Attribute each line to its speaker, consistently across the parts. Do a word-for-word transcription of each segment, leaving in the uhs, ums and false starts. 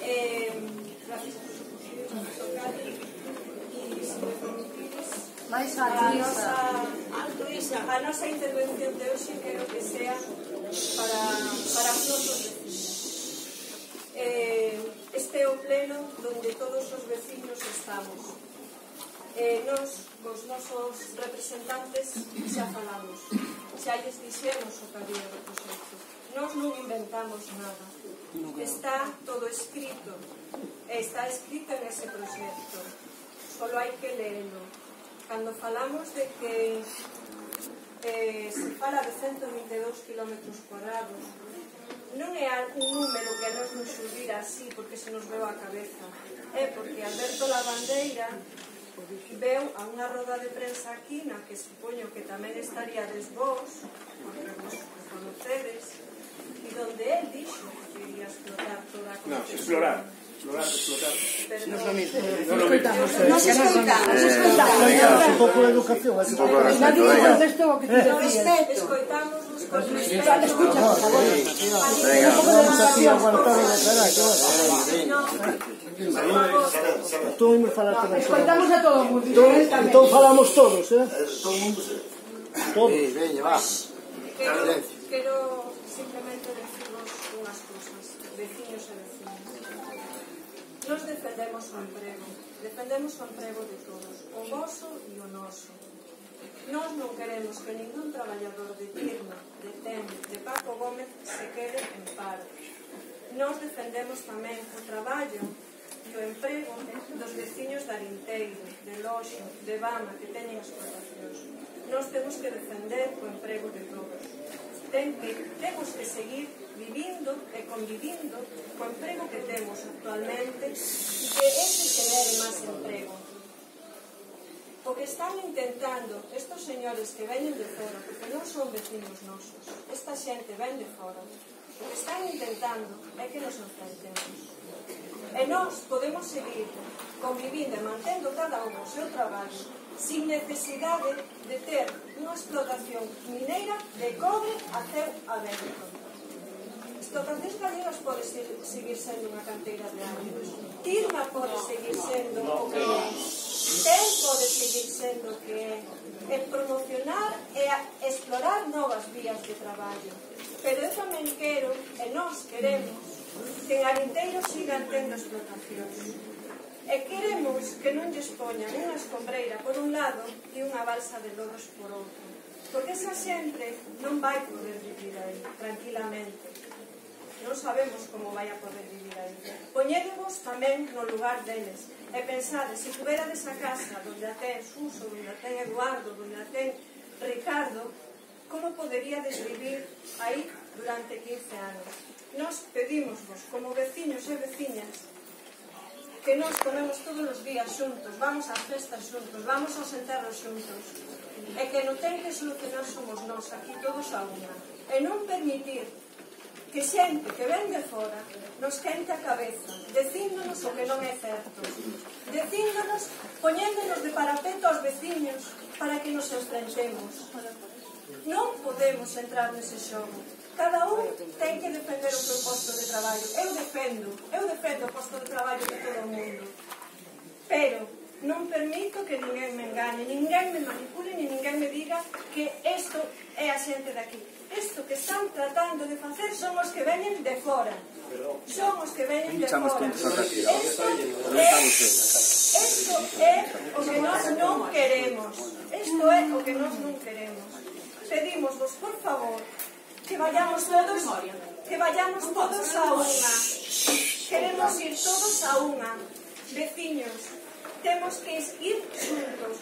Speaker 1: Gracias por su tocar e se me permitides a nosa intervención de hoxe quero que sea para os nosos vecinos. Este é o pleno donde todos os vecinos estamos. Nos, os nosos representantes, xa falamos, xa lles dixemos o que había do proxecto. Nos non inventamos nada. Está todo escrito. Está escrito en ese proxecto. Solo hai que leerlo. Cando falamos de que eh, se fala de ciento vinte e dous kilómetros cuadrados, non é un número que a nos nos xurdir así porque se nos veu a cabeza. É porque Alberto Lavandeira veu a unha roda de prensa aquí na que supoño que tamén estaríades vos, porque vos conocedes, e donde él dixo que iría explotar toda a concesión. No, explorar. Explorar, explotar. No es lo mismo. Nos escoitamos. Nos escoitamos. Un pouco de educación. Un pouco de respeto. Escoitamos con respeto. Escucha, por favor. Venga. Vamos aquí a aguantar e declarar. Tú me falaste de eso. Escoitamos a todo o mundo. Entón falamos todos, eh? Todo o mundo. Todos. Veña, va. Quero simplemente decirvos unhas cousas, veciños e vecinas. Nos defendemos o emprego, defendemos o emprego de todos, o voso e o noso. Nós non queremos que ningún traballador de Tirma, de Ten, de Paco Gómez se quede en paro. Nos defendemos tamén o traballo e o emprego dos veciños de Arinteiro, de Loxo, de Bama, que teñen explotacións. Nos temos que defender o emprego de todos. Ten que, temos que seguir vivindo e convivindo co emprego que temos actualmente e que ese genere máis emprego. O que están intentando estos señores que veñen de fora, porque non son vecinos nosos, esta xente ven de fora, o que están intentando é que nos enfrentemos. E nós podemos seguir convivindo e mantendo cada un o seu traballo sin necesidade de ter unha explotación mineira de cobre a ceo aberto. Explotacións galegas pode seguir sendo unha canteira de años. Tirma pode seguir sendo o que é. Ten pode seguir sendo o que é. E promocionar e explorar novas vías de traballo. Pero eu tamén quero, e nós queremos, que en Arinteiro sigan tendo explotacións. E queremos que non lles poñan unha escombreira por un lado e unha balsa de lodos por outro, porque esa xente non vai poder vivir aí tranquilamente. Non sabemos como vai a poder vivir aí. Poñédevos tamén no lugar deles e pensades, se tuverades a casa donde a ten Suso, donde a ten Eduardo, donde a ten Ricardo, como poderíades vivir aí durante quince anos? Nos pedimosvos, como veciños e veciñas, que nos comemos todos os días xuntos, vamos ás festas xuntos, vamos aos enterros xuntos, e que non ten que solucionar somos nós, aquí todos a unha, e non permitir que xente que ven de fora nos quente a cabeza, dicíndonos o que non é certo, dicíndonos, poñéndonos de parapeto aos veciños para que nos enfrentemos. Non podemos entrar nese xogo. Cada un ten que defender o seu posto de traballo. Eu defendo, eu defendo o posto de traballo de todo o mundo. Pero non permito que ninguén me engane, ninguén me manipule, ni ninguén me diga que isto é a xente de aquí. Isto que están tratando de facer son os que veñen de fora. Son os que veñen de fora. Isto é o que nós non queremos. Isto é o que nós non queremos. Pedimosvos, por favor, que vayamos todos, que vayamos todos a unha. Queremos ir todos a unha. Veciños, temos que ir xuntos.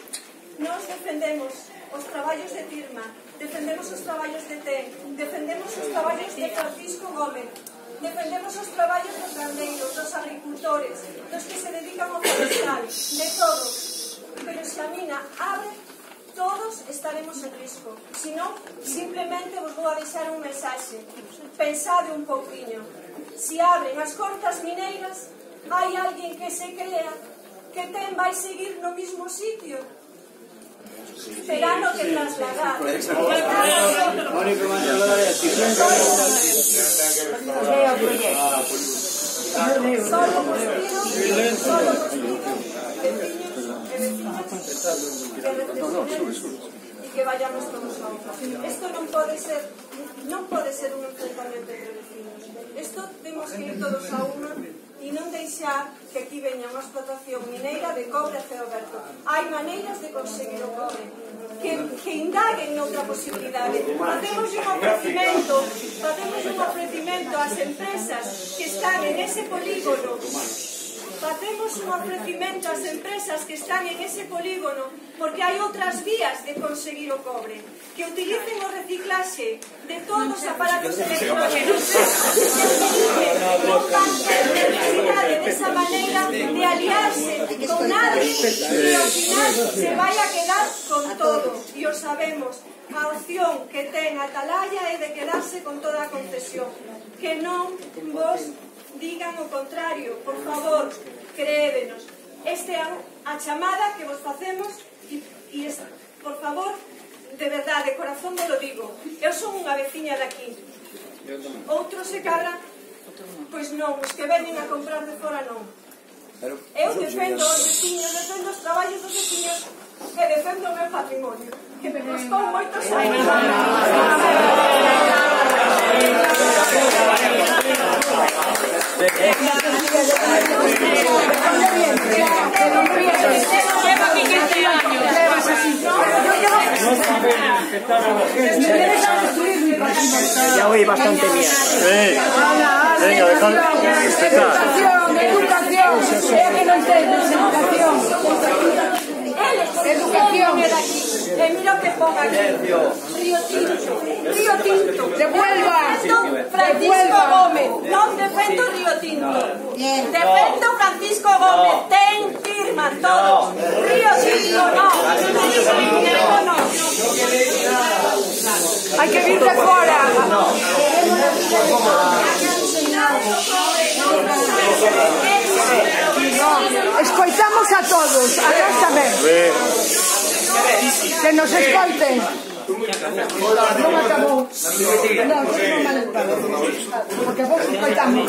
Speaker 1: Nos defendemos os traballos de Tirma, defendemos os traballos de Ten, defendemos os traballos de Francisco Gómez, defendemos os traballos dos gandeiros, dos agricultores, dos que se dedican ao forestal, de todos. Pero se a mina abre, todos estaremos en risco. Se non, simplemente vos vou a deixar un mensaxe. Pensade un pouquiño. Se abren as cortas mineiras, hai alguén que se crea que Ten vai seguir no mismo sitio. Terá no que trasladar.
Speaker 2: Solo vos pido, solo vos pido, veciños e veciñas, que reflexionemos e que vayamos todos a unha. Isto non pode ser, non pode ser un enfrentamento entre vecinos. Isto temos que ir todos a unha e non deixar que aquí veña unha explotación mineira de cobre a ceo aberto. Hai maneiras de conseguir o cobre que, que indaguen noutra posibilidade. Facemos un ofrecimento facemos un ofrecimento ás empresas que están en ese polígono facemos un ofrecimento ás empresas que están en ese polígono porque hai outras vías de conseguir o cobre, que utilicen o reciclaxe de todos os aparatos electrónicos, que utilicen non van ter necesidade desa maneira de aliarse con nadie e ao final se vai a quedar con todo, e o sabemos. A opción que ten Atalaya é de quedarse con toda a concesión, que non vos digan o contrario, por favor, creédenos. Esta é a chamada que vos facemos e, e es, por favor, de verdade, de corazón me lo digo. Eu son unha veciña daqui. Outros se cadran, pois non, os que venen a comprar de fora non. Eu defendo os veciños, defendo os traballos dos veciños e defendo o meu patrimonio, que me costou moitos anos. Lleva quince años.
Speaker 3: Ya oí bastante bien. Venga, dejad respetar.
Speaker 2: Educación, educación. que no entiendes educación. Educación. E mira o que ponga aquí. Río Tinto. Río Tinto. Devuelva. Francisco Gómez. Non defendo Río Tinto. Defendo Francisco Gómez. Ten firma todos. Río Tinto no. Río Tinto no. Hai que vir de fora. Escoitamos a todos, a nós tamén. Que nos escoiten. Non acabou. Non, non mal estado. Porque vos escoitamos.